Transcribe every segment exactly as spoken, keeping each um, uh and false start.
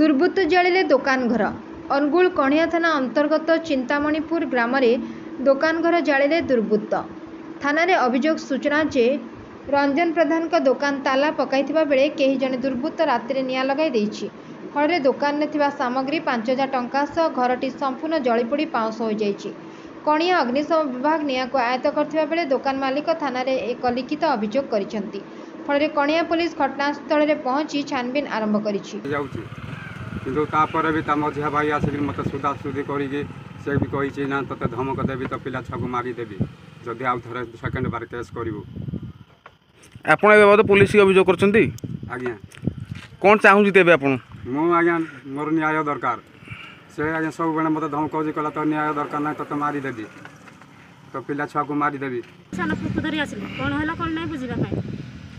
ଦୁର୍ବୃତ୍ତ ଜାଳିଲେ ଦୋକାନ ଘର। ଅନୁଗୁଳ କଣିହାଁ ଥାନା ଅନ୍ତର୍ଗତ ଚିନ୍ତାମଣିପୁର ଗ୍ରାମରେ ଦୋକାନ ଘର ଜାଳିଲେ ଦୁର୍ବୃତ୍ତ। ଥାନାରେ ଅଭିଯୋଗ ସୂଚନା ଯେ, ରଞ୍ଜନ ପ୍ରଧାନଙ୍କ ଦୋକାନ ତାଲା ପକାଇଥିବା ବେଳେ କେହି ଜଣେ ଦୁର୍ବୃତ୍ତ ରାତିରେ ନିଆଁ ଲଗାଇ ଦେଇଛି। ଫଳରେ ଦୋକାନରେ ଥିବା ସାମଗ୍ରୀ, ପାଞ୍ଚ ହଜାର ଟଙ୍କା ସହ ଘରଟି ସମ୍ପୂର୍ଣ୍ଣ ଜଳିପୋଡ଼ି ପାଉଁଶ ହୋଇଯାଇଛି। କଣିହାଁ ଅଗ୍ନିଶମ ବିଭାଗ ନିଆଁକୁ ଆୟତ୍ତ କରିଥିବା ବେଳେ ଦୋକାନ ମାଲିକ ଥାନାରେ ଏକ ଲିଖିତ ଅଭିଯୋଗ କରିଛନ୍ତି। ଫଳରେ କଣିହାଁ ପୋଲିସ ଘଟଣାସ୍ଥଳରେ ପହଞ୍ଚି ଛାନଭିନ୍ ଆରମ୍ଭ କରିଛି। ଯାଉଛି, କିନ୍ତୁ ତାପରେ ବି ତା ମଝିଆ ଭାଇ ଆସିକି ମୋତେ ସୁଧା ସୁଧି କରିକି ସେ ବି କହିଛି ନା, ତୋତେ ଧମକ ଦେବି, ତୋ ପିଲା ଛୁଆକୁ ମାରିଦେବି ଯଦି ଆଉ ଥରେ ସେକେଣ୍ଡ ବାର କେସ୍ କରିବୁ। ଆପଣ ଏ ବାବଦ ପୋଲିସకి ଅଭିଯୋଗ କରିଛନ୍ତି? ଆଜ୍ଞା। କ'ଣ ଚାହୁଁଛନ୍ତି ତେବେ ଆପଣ? ମୁଁ ଆଜ୍ଞା, ମୋର ନ୍ୟାୟ ଦରକାର। ସେ ଆଜ୍ଞା ସବୁବେଳେ ମୋତେ ଧମକଉଛି, କହିଲା ତୋ ନ୍ୟାୟ ଦରକାର ନାହିଁ, ତୋତେ ମାରିଦେବି, ତୋ ପିଲା ଛୁଆକୁ ମାରିଦେବି। ସାନ ପୁଅକୁ ଧରି ଆସିଲି, କ'ଣ ହେଲା କ'ଣ ନାହିଁ ବୁଝିବା ପାଇଁ।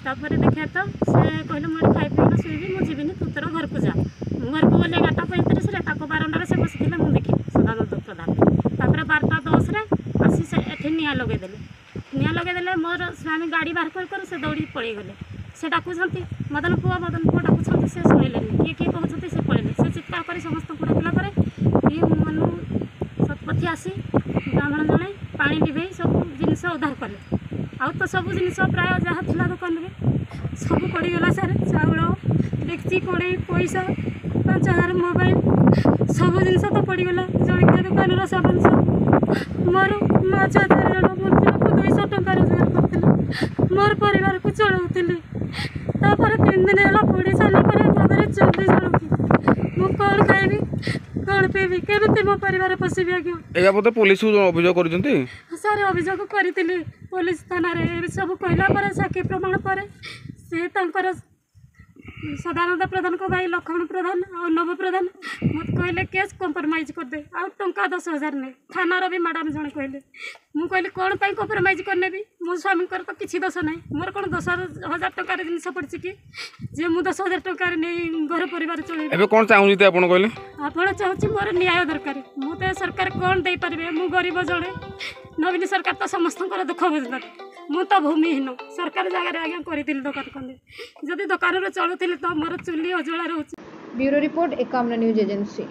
ତାପରେ ଦେଖିବା ତ ସେ କହିଲେ, ମୁଁ ଏଠି ଖାଇ ପିଇକିନା ଶୋଇବି, ମୁଁ ଯିବିନି, ତୁ ତୋର ଘରକୁ ଯା। ମୁଁ ଘରକୁ ଗଲି ଏଗାରଟା ପଇଁତିରିଶରେ। ତାଙ୍କ ବାରଣ୍ଡାରେ ସେ ବସିଥିଲେ, ମୁଁ ଦେଖିଲି ସଦାନନ୍ଦ ପ୍ରଧାନ। ତାପରେ ବାରଟା ଦଶରେ ଆସି ସେ ଏଠି ନିଆଁ ଲଗେଇଦେଲେ। ନିଆଁ ଲଗେଇଦେଲେ, ମୋର ସ୍ୱାମୀ ଗାଡ଼ି ବାହାର କରି କରି ସେ ଦୌଡ଼ିକି ପଳେଇଗଲେ। ସେ ଡାକୁଛନ୍ତି ମଦନ ପୁଅ, ମଦନ ପୁଅ ଡାକୁଛନ୍ତି, ସେ ଶୁଣିଲେନି। କିଏ କିଏ କହୁଛନ୍ତି, ସେ ପଳେଇଲେ। ସେ ଚିତ୍କାର କରି ସମସ୍ତଙ୍କୁ ଡାକିଲା ପରେ ଇଏ ମନୁ ଶତପଥୀ ଆସି, ବ୍ରାହ୍ମଣ ଜଣେ, ପାଣି ଲିଭେଇ ସବୁ ଜିନିଷ ଉଦ୍ଧାର କଲେ। ଆଉ ତ ସବୁ ଜିନିଷ ପ୍ରାୟ ଯାହା ଥିଲା ଦୋକାନରେ ସବୁ ପଡ଼ିଗଲା ସାର୍। ଚାଉଳ, ଡେକ୍ଚି, କଡ଼େଇ, ପଇସା ପାଞ୍ଚ ହଜାର, ମୋବାଇଲ, ସବୁ ଜିନିଷ ତ ପଡ଼ିଗଲା। ଜଳଖିଆ ଦୋକାନର ସାମାନ ସବୁ। ମୋର ମା ଛୁଆ ଚାରି ଜଣ, ମୁଁ ଦିନକୁ ଦୁଇଶହ ଟଙ୍କା ରୋଜଗାର କରୁଥିଲି, ମୋର ପରିବାରକୁ ଚଳାଉଥିଲି। ତାପରେ ତିନି ଦିନ ହେଲା ପୋଡ଼ି ସାରିଲା ପରେ ମୋ ଘରେ ଚୁଲି ଜଳୁଛି। ମୁଁ କ'ଣ ଖାଇବି, କ'ଣ ପିଇବି, କେମିତି ମୋ ପରିବାର ପୋଷିବି ଆଜ୍ଞା? ଏ ବାବଦ ପୋଲିସକୁ ଅଭିଯୋଗ କରିଛନ୍ତି? ସାର୍, ଅଭିଯୋଗ କରିଥିଲି ପୋଲିସ ଥାନାରେ। ଏ ସବୁ କହିଲା ପରେ, ସାକ୍ଷୀ ପ୍ରମାଣ ପରେ ସେ ତାଙ୍କର ସଦାନନ୍ଦ ପ୍ରଧାନଙ୍କ ଭାଇ ଲକ୍ଷ୍ମଣ ପ୍ରଧାନ ଆଉ ନବ ପ୍ରଧାନ ମୋତେ କହିଲେ, କେସ୍ କମ୍ପ୍ରମାଇଜ୍ କରିଦେ ଆଉ ଟଙ୍କା ଦଶ ହଜାର ନେ। ଥାନାର ବି ମ୍ୟାଡ଼ାମ୍ ଜଣେ କହିଲେ। ମୁଁ କହିଲି, କ'ଣ ପାଇଁ କମ୍ପ୍ରମାଇଜ୍ କରିନେବି? ମୋ ସ୍ୱାମୀଙ୍କର ତ କିଛି ଦୋଷ ନାହିଁ। ମୋର କ'ଣ ଦଶ ହଜାର ଟଙ୍କାର ଜିନିଷ ପଡ଼ିଛି କି ଯେ ମୁଁ ଦଶ ହଜାର ଟଙ୍କାରେ ନେଇ ଘର ପରିବାର ଚଳେଇବି? ଏବେ କ'ଣ ଚାହୁଁଛନ୍ତି ଆପଣ କହିଲେ? ଆପଣ ଚାହୁଁଛି ମୋର ନ୍ୟାୟ ଦରକାର। ମୁଁ ତ ସରକାର କ'ଣ ଦେଇପାରିବେ? ମୁଁ ଗରିବ ଜଣେ। ନବୀନ ସରକାର ତ ସମସ୍ତଙ୍କର ଦୁଃଖ ବୁଝୁଛନ୍ତି। ମୁଁ ତ ଭୂମିହୀନ, ସରକାରୀ ଜାଗାରେ ଆଜ୍ଞା କରିଥିଲି ଦୋକାନ ଖଣ୍ଡେ। ଯଦି ଦୋକାନରେ ଚଳୁଥିଲି ତ ମୋର ଚୁଲି ଅଜଳା ରହୁଛି। Bureau report, Ekamra news agency.